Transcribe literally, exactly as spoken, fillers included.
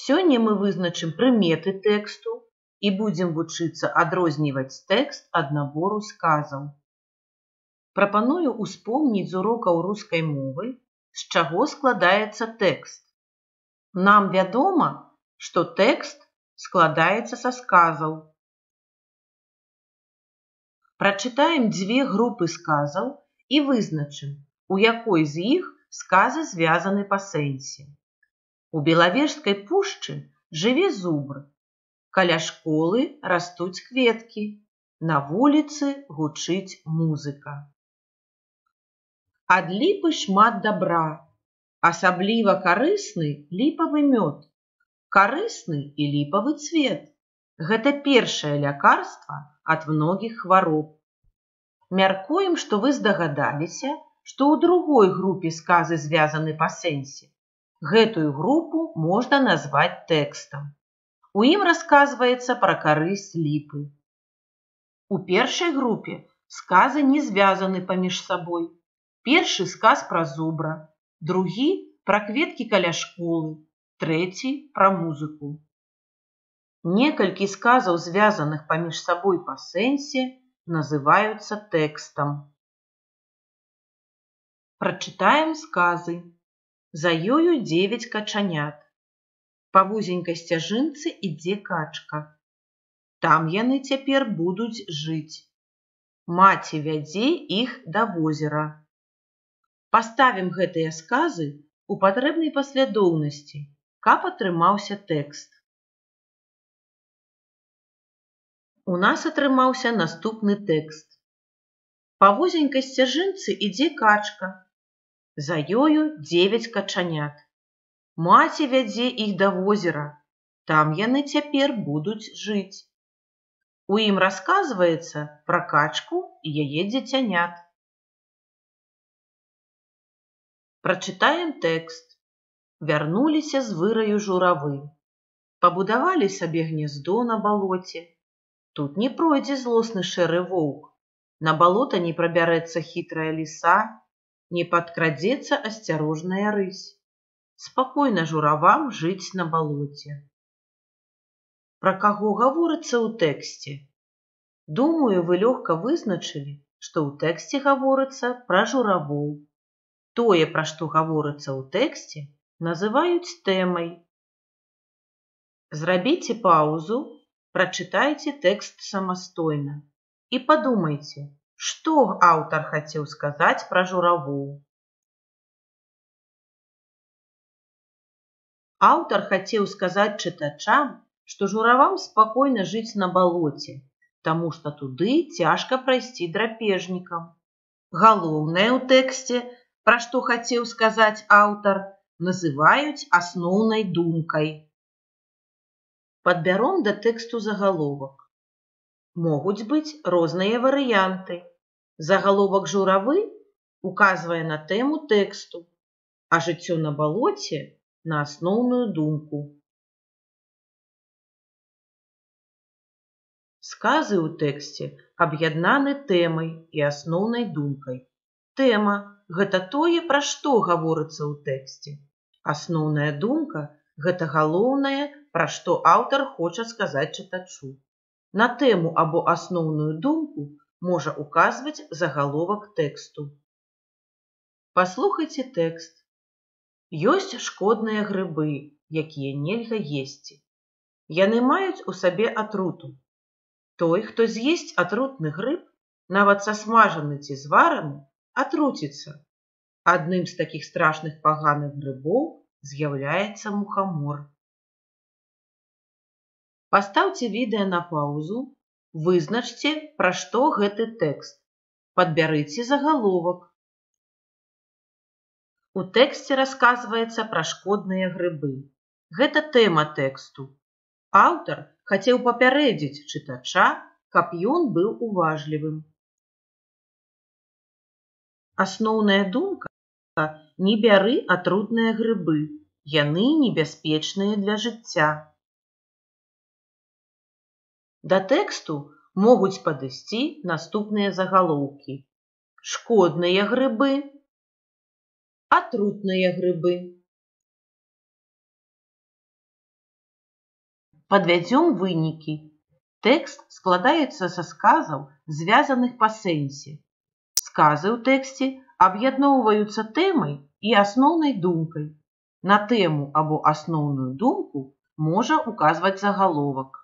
Сёння мы вызначым прыметы тэксту і будзем вучыцца адрозніваць тэкст ад набору сказаў. Прапаную ўспомніць з урокаў рускай мовы, з чаго складаецца тэкст. Нам вядома, што тэкст складаецца са сказаў. Прачытаем дзве групы сказаў і вызначым, у якой з іх сказы звязаны па сэнсе. У Белавежскай пушчы жыве зубр. Каля школы растуць кветкі. На вуліцы гучыць музыка. Ад ліпы шмат дабра. Асабліва карысны ліпавы мёд. Карысны і ліпавы цвет. Гэта першае лякарства ад многіх хвароб. Мяркуем, што вы здагадаліся, што ў другой групе сказы звязаны па сэнсе. Гэтую групу можна назваць тэкстам. У ім расказваецца пра карысць ліпы. У першай групе сказы не звязаны паміж сабой. Першы сказ пра зубра, другі пра кветкі каля школы, трэці пра музыку. Некалькі сказаў, звязаных паміж сабой па сэнсе, называюцца тэкстам. Прачытаем сказы. За ёю дзевяць качанят. Па вузенькай сцяжынцы ідзе качка. Там яны цяпер будуць жыць. Маці вядзе іх да возера. Паставім гэтыя сказы у патрэбнай паслядоўнасці, каб атрымаўся тэкст. У нас атрымаўся наступны тэкст. Па вузенькай сцяжынцы ідзе качка. За ёю дзевяць качанят. Маці вядзе іх да возера. Там яны цяпер будуць жыць. У ім расказваецца пра качку і яе дзіцянят. Прачытаем тэкст. Вярнуліся з выраю журавы. Пабудавалі сабе гняздо на балоце. Тут не пройдзе злосны шэры воўк. На балота не прабярэцца хітрая ліса, не падкрадзецца асцярожная рысь. Спакойна журавам жыць на балоце. Пра каго гаворыцца ў тэксце? Думаю, вы лёгка вызначылі, што ў тэксце гаворыцца пра журавоў. Тое, пра што гаворыцца ў тэксце, называюць тэмай. Зрабіце паўзу, прачытайце тэкст самастойна і падумайце, што аўтар хацеў сказаць пра журавоў. Аўтар хацеў сказаць чытачам, што журавам спакойна жыць на балоце, таму што туды цяжка прайсці драпежнікам. Галоўнае ў тэксце, пра што хацеў сказаць аўтар, называюць асноўнай думкай. Падбяром да тэксту загаловак. Могуць быць розныя варыянты. Загаловак журавы указвае на тэму тэксту, а жыццё на балоце на асноўную думку. Сказы ў тэксце аб'яднаны тэмай і асноўнай думкай. Тэма – гэта тое, пра што гаворыцца ў тэксце. Асноўная думка – гэта галоўнае, пра што аўтар хоча сказаць чытачу. На тэму або асноўную думку можа указваць загаловак тэксту. Паслухайце тэкст. Ёсць шкодныя грыбы, якія нельга есці. Яны маюць у сабе атруту. Той, хто з'есць атрутны грыб, нават сасмажаны ці звараны, атруціцца. Адным з такіх страшных паганых грыбоў з'яўляецца мухамор. Пастаўце відэа на паўзу, вызначце, пра што гэты тэкст. Падбярыце загаловак. У тэксце расказваецца пра шкодныя грыбы. Гэта тэма тэксту. Аўтар хацеў папярэдзіць чытача, каб ён быў уважлівым. Асноўная думка – не бяры атрутныя грыбы. Яны небяспечныя для жыцця. Да тэксту могуць падысці наступныя загалоўкі. Шкодныя грыбы, атрутныя грыбы. Падвядзём вынікі. Тэкст складаецца са сказаў, звязаных па сэнсе. Сказы ў тэксце аб'ядноўваюцца тэмай і асноўнай думкай. На тэму або асноўную думку можа указваць загаловак.